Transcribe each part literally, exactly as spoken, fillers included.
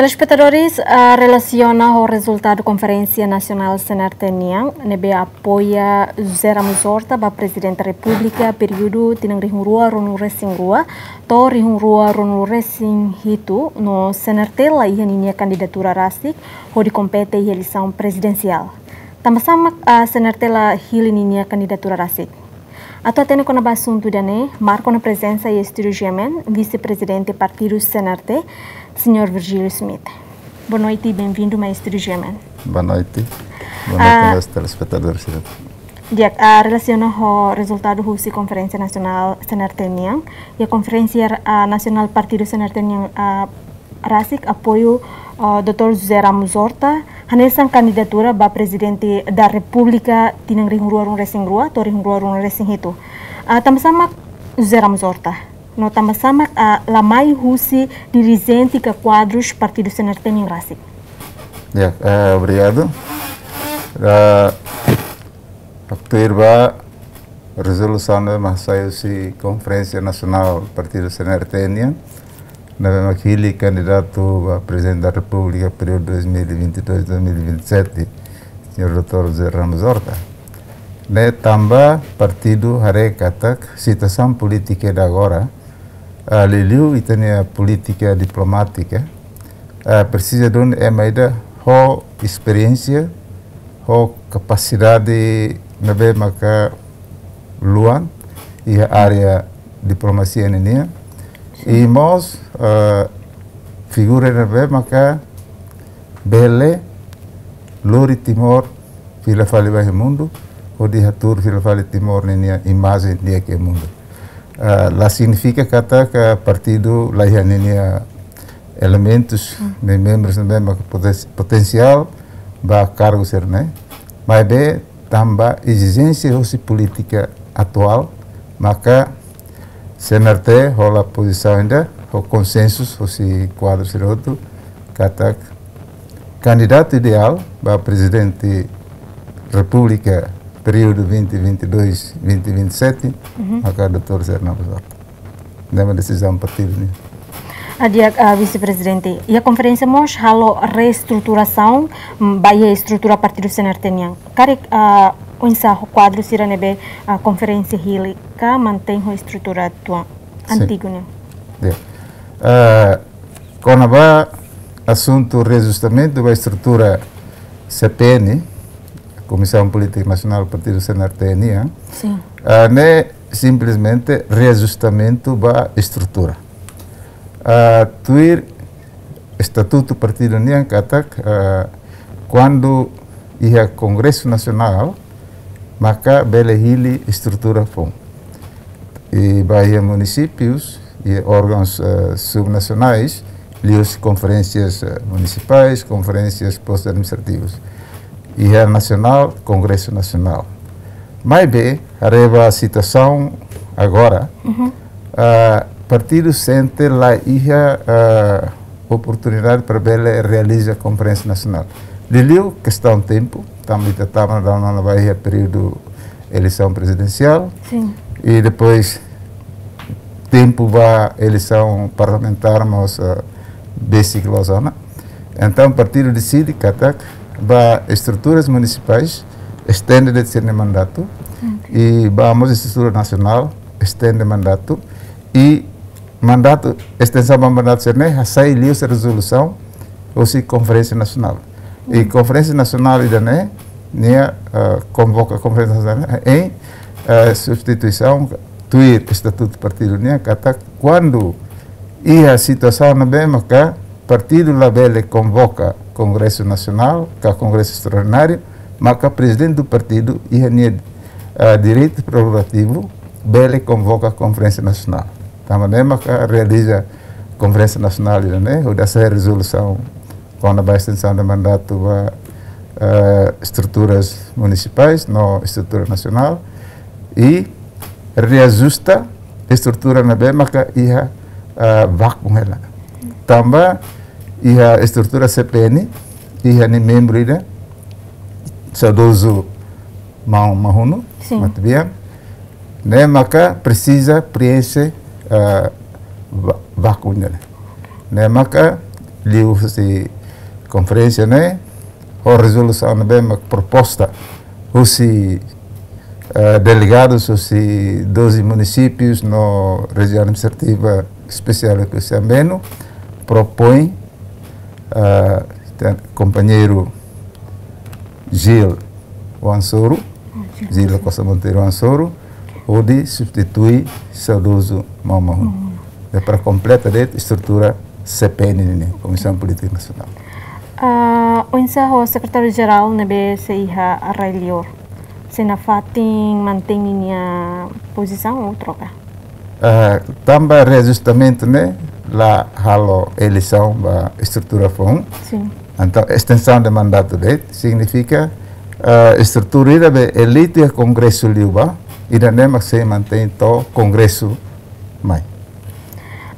Telespetadores, ah, relasiona ho rezultadu Konferénsia Nasionál C N R T nian, ne'ebé apoia José Ramos Horta ba Prezidente Repúblika períodu tinan rihun rua ruanulu resin rua to'o rihun rua ruanulu resin hitu, no C N R T la iha ninia kandidatura rasik hodi kompete iha eleisaun prezidensiál. Tanba sá mak, ah, C N R T la hili ninia kandidatura rasik? Atu hatene kona-ba asuntu ida-ne'e, marka ona prezensa iha estúdiu GMN, Vise-Prezidente Partidu C N R T, Señór Virgílio Schmidt. Boa noite e bem-vindo mai estúdiu GMN. Boa noite. Boa noite, ah, meus telespetadores. Di'ak, ah, relasiona ho rezultadu husi Konferénsia Nasionál C N R T nian, iha Konferénsia, ah, Nasionál Partidu C N R T nian, ah, rasik apoiu, ah, doutór José Ramos Horta hanesan kandidatura ba Prezidente da Repúblika tinan rihun rua ruanulu resin rua to'o rihun rua ruanulu resin hitu. Ah, tanba sá mak José Ramos Horta? No tanba sá mak, ah, la mai husi dirijente ka kuadrus Partidu C N R T nian rasik? Ya, eh, obrigadu. Eh, atu tuir ba rezolusaun ne'ebé mak sai husi Konferénsia Nasionál Partidu C N R T nian, ne'ebé mak hili kandidatu ba Prezidente da Repúblika períodu dois mil e vinte e dois, dois mil e vinte e sete, Señór doutór José Ramos Horta. Ne'e tanba partidu haree katak situasaun polítika ida agora, ah, liuliu ita-nia polítika diplomátika, ah, presiza duni ema ida ho esperiénsia, ho kapasidade ne'ebé maka luan iha área diplomasia ninian. I mós, ah, figura ne'ebé maka bele lori Timor fila fali ba iha mundu, hodi hatuur fila fali Timor ninia imajen di'ak iha mundu. Ah, la signifika katak partidu la iha ninia elementus, ne'e membrus ne'ebé mak poten-, potensiál ba kargu sira-ne'e. Maibé tanba ezijénsia husi polítika atuál, maka C N R T hola pozisaun ida, ho konsensu husi kuadru sira hotu, katak kandidatu ideál ba Prezidente Repúblika períodu vinte vinte e dois, vinte vinte e sete, maka doutór José Ramos Horta. Ne'e mak desizaun partidu nian. Ah, di'ak, ah, Vise-Prezidente, iha konferénsia mós halo reestruturasaun, mm, ba iha estrutura partidu C N R T nian. Karik, ah, oinsá ho kuadru sira ne'ebé, ah, konferénsia hili, ka mantein ho estrutura tua-, sin, antigu nian? Ya. Ah, kona-ba asuntu reajustamentu ba estrutura C P N, Komisaun Polítika Nasionál Partidu C N R T nian, sin, ah, ne'e simplesmente reajustamentu ba estrutura. Ah, tuir estatutu partidu nian katak, ah, kuandu iha Kongresu Nasionál, maka bele hili estrutura foun. I ba iha munisípius, iha órgauns, eh, subnasionais, liuhusi konferénsias, eh, munisipais, konferénsias postus administrativus. Iha nasionál, Kongresu Nasionál. Maibé, haree ba situasaun agora, ah, partidu sente la iha, ah, oportunidade para bele realiza konferénsia nasionál. Liuliu kestaun tempu, tanba ita tama daudaun ona ba iha períodu eleisaun prezidensiál. Sin. I depois tempu ba eleisaun parlamentár mós, ah, besik loos ona. Entaun partidu deside katak ba estruturas munisipais estende de'it sira-nia mandatu, ok, i ba mós estrutura nasionál estende mandatu, i mandatu, estensaun ba mandatu sira-ne'e hasai liuhusi rezolusaun husi Konferénsia Nasionál. I Konferénsia Nasionál ida-ne'e, nia, eh, konvoka Konferénsia Nasionál ne'e, em, eh, substituisaun tuir estatutu partidu nian, katak kuandu iha situasaun ne'ebé maka partidu labele konvoka Kongresu Nasionál, ka Kongresu Estraordináriu, maka prezidente do partidu iha nia, eh, direitu prerogativu bele konvoka Konferénsia Nasionál. Tanba ne'e maka realiza Konferénsia Nasionál ida-ne'e, hodi hasai rezolusaun kona-ba estensaun de mandatu ba, eh, estruturas munisipais no estrutura nasionál, i reajusta estrutura ne'ebé maka iha, eh, vákuu hela. Tanba iha estrutura C P N, iha nia membru ida, saudozu maun Mahunu, sin, Matebian, ne'e maka presiza preenxe, eh, va-, vákuu ne'e. Ne'e maka liuhusi konferénsia ne'e, ho rezolusaun ne'ebé mak proposta husi, eh, delegadus husi doze munisípius no Rejiaun Administrativa Espesiál Oekusi Ambeno, propoin, eh, ten kompañeiru Gil Wansoru, Gil Costa Monteiro Wansoru, hodi substitui saudozu Maun Mahun. Ne'e para kompleta de'it estrutura C P N nian, Komisaun Polítika Nasionál. Ah, oinsá ho Sekretáriu Jerál ne'ebé sei iha rai-liur? Sei nafatin mantein ninia pozisaun ou troka? Ah, tanba reajustamentu ne'e la halo eleisaun ba estrutura foun. Sin. Entaun, estensaun de mandatu de'it signifika, ah, estrutura ida be eleitu iha Kongresu liubá, ida-ne'e mak sei mantein to'o Kongresu mai.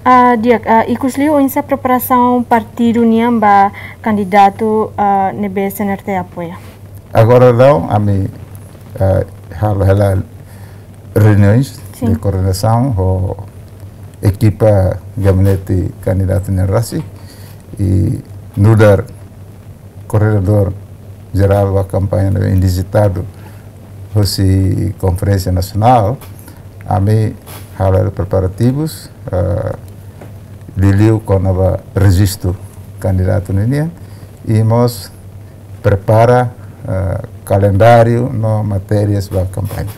Ah, di'ak, ah, ikusliu oinsá preparasaun partidu nian ba kandidatu, ah, ne'ebé C N R T apoia? Agora daudaun ami, ah, halo hela reuniões, sin, de koordenasaun ho ekipa gabinete kandidatu nian rasik, i nu'udar koordenadór jerál ba kampaña ne'ebé indizitadu husi Konferénsia Nasionál, ami halo preparativus, eh, liuliu kona-ba rejistu kandidatu ninian, i mós prepara, eh, kalendáriu no matérias ba kampaña.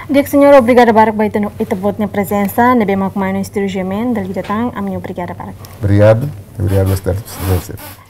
Di'ak, señór, obrigada barak ba ita-nia, ita-boot nia prezensa ne'ebé mak mai ona estúdiu GMN dala ida tan, ami obrigada barak. Obrigadu, obrigadu ba estar presente.